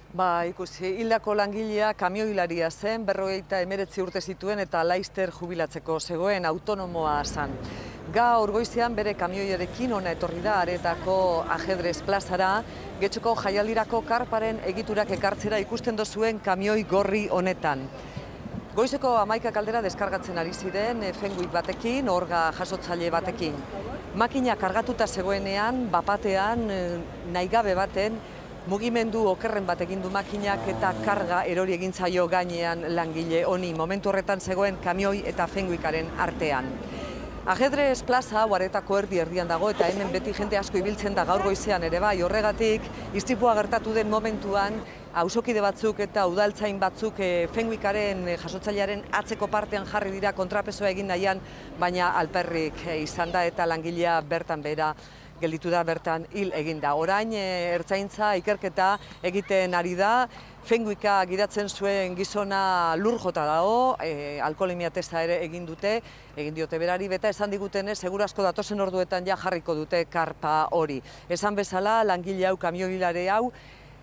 Ikusi, hildako langilea kamioilaria zen, 59 urte zituen eta laister jubilatzeko zegoen autonomoa zen. Gaur goizean bere kamioiarekin hona etorri da Aretako Ajedrez plazara, Getxoko jaialdirako karparen egiturak ekartzera ikusten dozuen kamioi gorri honetan. Goizeko 11 aldera deskargatzen ari ziren fenguik batekin, orga jasotzaile batekin. Makina kargatuta zegoenean, bapatean, nahigabe baten, mugimendu okerren bat egin du makinak eta karga erori egin zaio gainean langile honi. Momentu horretan zegoen kamioi eta fenguikaren artean. Ajedrez plaza Aretako erdian dago eta hemen beti jende asko ibiltzen da gaur goizean ere bai. Horregatik, istripua gertatu den momentuan, auzokide batzuk eta udaltzain batzuk fenguikaren jasotzailearen atzeko partean jarri dira kontrapesoa egin nahian, baina alperrik izan da eta langilea bertan behera gelditu da, bertan hil egin da. Orain ertzaintza ikerketa egiten ari da, fenguika gidatzen zuen gizona lur jota dago, alkoholemia testa ere egin diote berari, beta esan digutenez, seguru asko datozen orduetan ja jarriko dute karpa hori. Esan bezala, langile hau, kamioilare hau,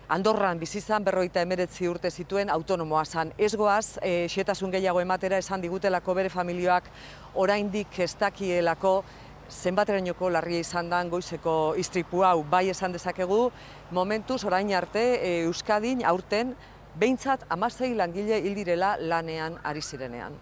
Andorran bizizan 59 urte zituen autonomoa zen. Ez goaz, xehetasun gehiago ematera esan digutelako bere familioak oraindik ez dakielako zenbaterainoko larria izan den goizeko istripu hau. Bai esan dezakegu, momentuz orain arte Euskadin aurten behintzat 16 langile hil direla lanean ari zirenean.